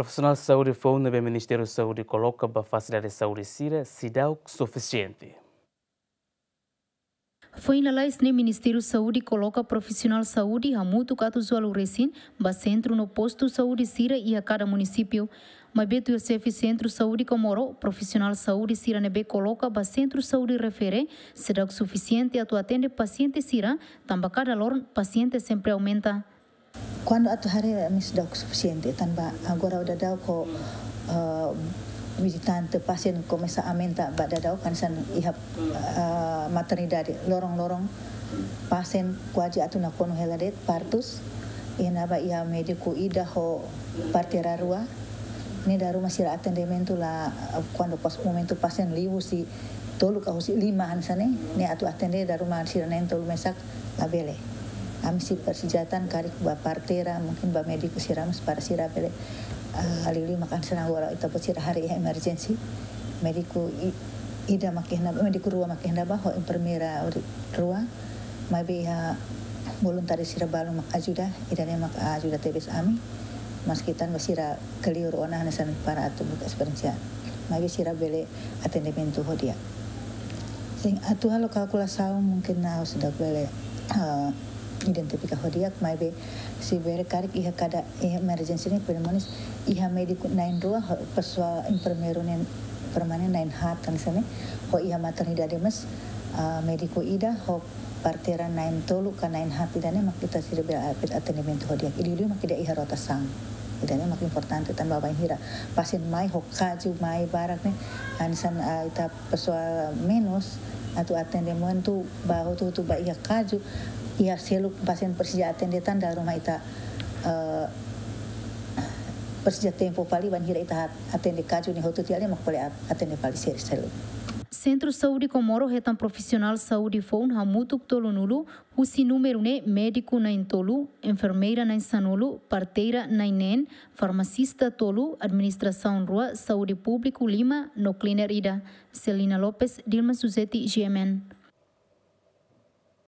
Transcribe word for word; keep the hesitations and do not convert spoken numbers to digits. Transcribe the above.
Profisionál saúde foun ne'ebé Ministériu Saúde koloka ba fasilidade saúde sira seidauk sufisiente. Foin lalais ne'e Ministériu Saúde koloka profisionál saúde hamutuk atus ualu resin ba sentru no postu saúde sira iha kada munisípiu. Maibé tuir xefe Sentru Saúde Comoro, profisionál saúde sira ne'ebé koloka ba sentru saúde refere seidauk sufisiente atu atende pasiente sira, tanba kada loron pasiente sempre aumenta. Kuandu atu haree ami seidauk sufisiente, tanba agora daudaun ho, eh, vizitante pasien komesa aumenta ba daudaun hanesan iha, eh, maternidade loron-loron pasien kuaze atu nakonu hela de'it partus, iha ne'ebá iha médiku ida ho parteira rua, ne'e dala ruma sira atendimentu la, kuandu pas momentu pasien liu husi tolu ka husi lima hanesan ne'e, ne'e atu atende dala ruma sira na'in-tolu mesak labele. Ami sei presiza tan karik ba parteira, mungkin ba médiku sira mós para sira bele, ah, liuliu mak hanesan agora ita-boot sira haree iha emergency. Médiku i-, ida mak iha ne'ebá, médiku rua mak iha ne'ebá ho enfermeira ori-, rua. Maibé iha voluntáriu sira balu mak ajuda, ida-ne'e mak ajuda tebes ami. Maski tanba sira kleur ona hanesan para atu buka esperiénsia. Maibé sira bele atendimentu ho di'ak. Sin, atu halo kalkulasaun mungkin ha'u seidauk bele, eh, identifika ho di'ak, maibé se bele karik iha kada, eh, emergency ne'e pneumonia, iha médiku na'in-rua, ho pesoál enfermeiru ne'e permanen na'in-haat hanesan ne'e, ho iha maternidade mós, ah, médiku ida, ho parteira na'in-tolu ka na'in-haat, ida-ne'e mak ita seidauk bele atendimentu ho di'ak. Liuliu mak ida iha rotasaun. Ida-ne'e mak importante tanba bainhira pasien mai ho kazu mai barak ne'e, hanesan, ah, ita pesoál menus atu atendimentu ba hotu-hotu ba iha kazu, iha seluk pasien presiza atende tan dala ruma ita, eh, presiza tempu fali bainhira ita atende kazu ne'e hotu tiha mak bele at-, atende fali sel-, seluk. Sentru Saúde Comoro hetan profisionál saúde foun hamutuk tolunulu, husi númeru ne'e médiku na'in-tolu, enfermeira na'in-sanulu, parteira na'in-neen, farmasista tolu, administrasaun rua, saúde públiku lima, no cleaner ida. Celina Lopes, Dilma Suzeti, G M N.